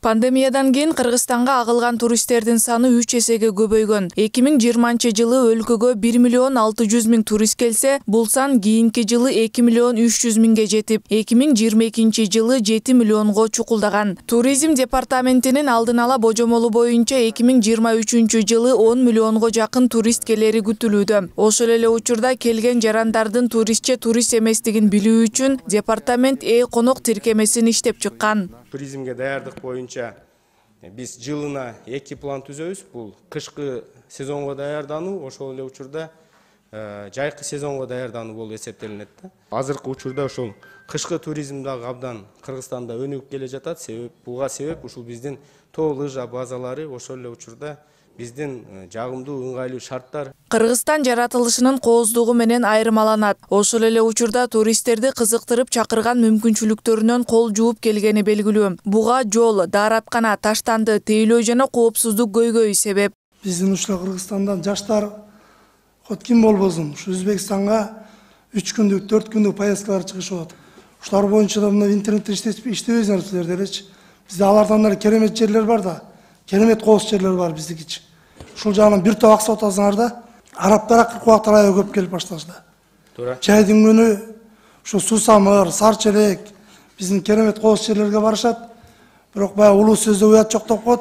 Пандемиядан кийин Кыргызстанга агылган туристтердин саны 3 эсеге көбөйгөн. 2020-жылы өлкөгө 1 миллион 600 миң турист келсе, бул сан кийинки жылы 2 миллион 300 миңге жетип, 2022-жылы 7 миллионго чукулдаган. Туризм департаментинин алдын ала божомолу боюнча 2023-жылы 10 миллионго жакын турист келери күтүлүүдө. Ошол эле учурда келген жарандардын туристче турист эместигин билүү үчүн департамент конок тиркемесин иштеп чыккан. Туризмге даярдык боюнча биз жылына 2 план түзөбүз. Бул кышкы сезонго даярдануу, ошол эле учурда жайкы сезонго даярдануу болуп эсептелинет да. Азыркы учурда ошол кышкы туризм дагы абдан Кыргызстанда өнүгүп келе жатат. Буга себеп ушул биздин тоо лыжа базалары, ошол эле учурда биздин жагымдуу ыңгайлуу шарттар. Кыргызстан жаратылышынын кооздугу менен айырмаланат. Ошол эле учурда туристтерди кызыктырып чакырган мүмкүнчүлүктөрүнөн кол жууп келгени белгилүү. Буга жол, даараткана, таштанды, тейлөө жана коопсуздук көйгөйү себеп. Биздин ушул Кыргызстандан жаштар хот ким болбосун, ушу Өзбекстанга 3 күндүк, 4 күндүк поездкалар чыгышып атат. Ушулар боюнча да мына интернетте иштебейсиңер силер делечи. Бизде алардан керемет жерлер бар да. Керемет кооз жерлер бар биздикичи. Ушул жагынан бир топ акча отасыңар да, арабтар кыркыбактар аябай көп келип башташты. Туура. Жайдын күнү ушу Сусамыр, Сарчелек биздин керемет кооз жерлерге барышат. Бирок баягы улуу сөздө уят жок деп коет.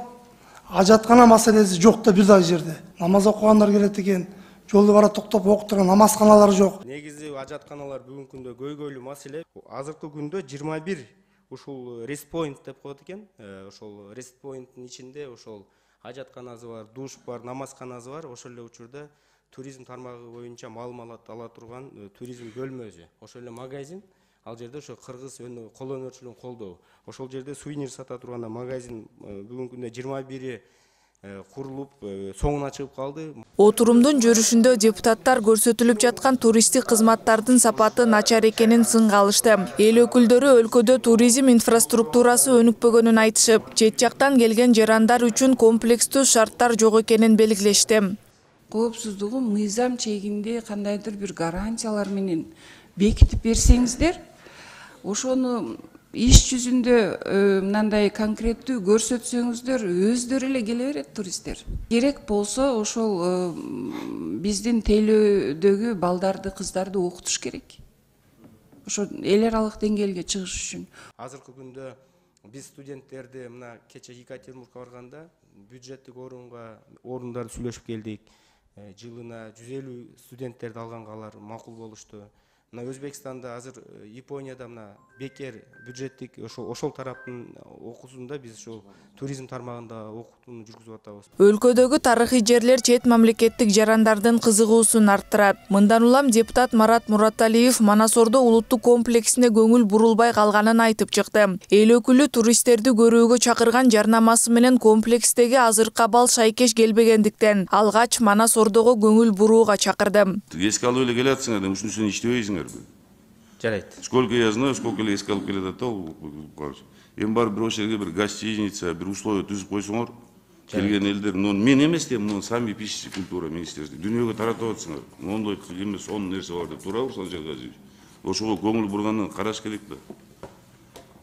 Ажаткана маселеси жок да бир дагы жерде. Намаз окугандар келет экен, жолду бара токтоп окуп турган намазканалар жок. Негизи ажатканалар бүгүнкү күндө көйгөйлүү маселе. Азыркы күндө 21 ушул Rest Point деп коет экен. Ошол Rest Point'тин ичинде ошол ажатканасы бар, душ бар, намазканасы бар. Ошол эле учурда туризм тармагы боюнча маалымат ала турган туризм бөлмөсү. Ошол эле магазин. Ал жерде ошо кыргыз кол өнөрчүлүгүн колдоо. Ошол жерде сувенир сата турган магазин бүгүнкү күндө 21 курулуп, соңуна чыгып калды. Отурумдун жүрүшүндө депутаттар көрсөтүлүп жаткан туристтик кызматтардын сапаты начар экенин сынга алышты. Эл өкүлдөрү өлкөдө туризм инфраструктурасы өнүкпөгөнүн айтышып, чет жактан келген жарандар үчүн комплекстүү шарттар жок экенин белгилешти. Коопсуздугу мыйзам чегинде кандайдыр бир гарантиялар менен бекитип берсеңиздер, ошону иш жүзүндө мындай конкреттүү көрсөтсөңүздөр, өздөрү эле келе берет туристтер. Керек болсо ошол биздин тейлөөдөгү балдарды, кыздарды окутуш керек. Ошо эл аралык деңгээлге чыгыш үчүн. Азыркы күндө биз студенттерди мына кече Екатеринбургка барганда бюджеттик орундарды сүйлөшүп келдик. Жылына 150 студенттерди алганга алар макул болушту. Мына Өзбекстанда азыр Японияда мына бекер бюджеттик ошол тараптын окуусунда биз ошол туризм тармагында окутууну жүргүзүп атабыз. Өлкөдөгү тарыхый жерлер чет мамлекеттик жарандардын кызыгуусун арттырат. Мындан улам депутат Марат Мураталиев Манасордо улуттук комплексине көңүл бурулбай калганын айтып чыкты. Эл өкүлү туристтерди көрүүгө чакырган жарнамасы менен комплекстеги азыркы абал шайкеш келбегендиктен алгач Манасордого көңүл бурууга чакырды. Эске алып эле келатсыңар, ушунусун иштебейсиңер. Жарайт. Сколько я знаю, сколько эле эске алып келет атабыл. Эми бар бир ошол жерге бир гостиница, бир условия түзүп койсоңор, келген элдер, мен эмес дейм, сами пишите культура министерства. Дүйнөгө таратып атсыңар. Мондой эмес, он нерсе бар деп туурабы Руслан Шергазиевич? Ошого көңүл бургандан караш керек да.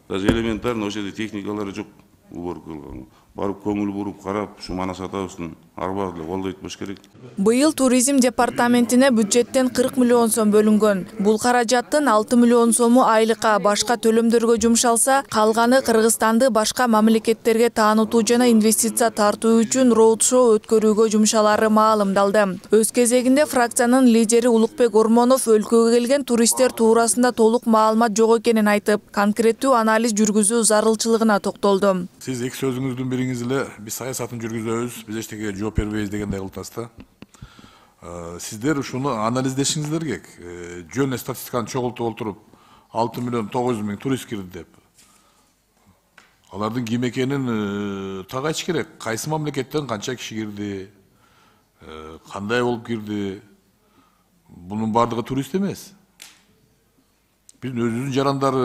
Даже элементарно ошол жерде техникалары жок, уборка кылган. Барып көңүл буруп карап, ушу Манас атабыздын арбагы деле колдойт болуш керек. Быйыл туризм департаментине бюджеттен 40 миллион сом бөлүнгөн. Бул каражаттын 6 миллион сому айлыкка, башка төлөмдөргө жумшалса, калганы Кыргызстанды башка мамлекеттерге таанытуу жана инвестиция тартуу үчүн роуд-шоу өткөрүүгө жумшалары маалымдалды. Өз кезегинде фракциянын лидери Улукбек Ормонов өлкөгө келген туристтер туурасында толук маалымат жок экенин айтып, конкреттүү анализ жүргүзүү зарылчылыгына токтолду. Сиз эки сөзүңүздүн бириңиз эле биз саясатын жүргүзөбүз, биз эчтекеге жооп бербейбиз дегендей кылып атасыз да. Сиздер ушуну анализдешиңиздер керек. Жөн статистиканы чогултуп олтуруп 6 миллион 900 миң турист кирди деп. Алардын ким экенин так айтыш керек. Кайсы мамлекеттен канча киши кирди, кандай болуп кирди. Бунун бардыгы турист эмес. Биздин өзүбүздүн жарандар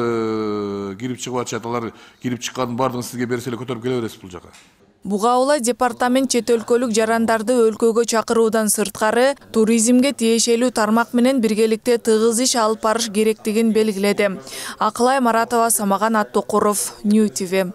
кирип чыгып атышат, алар кирип чыккандын бардыгын сизге берсе эле көтөрүп келе бересиз бул жака. Буга улай департамент чет өлкөлүк жарандарды өлкөгө чакыруудан сырткары туризмге тиешелүү тармак менен биргеликте тыгыз иш алып барыш керектигин белгиледи. Акылай Маратова, Самаган Аттокуров, Нью ТВ.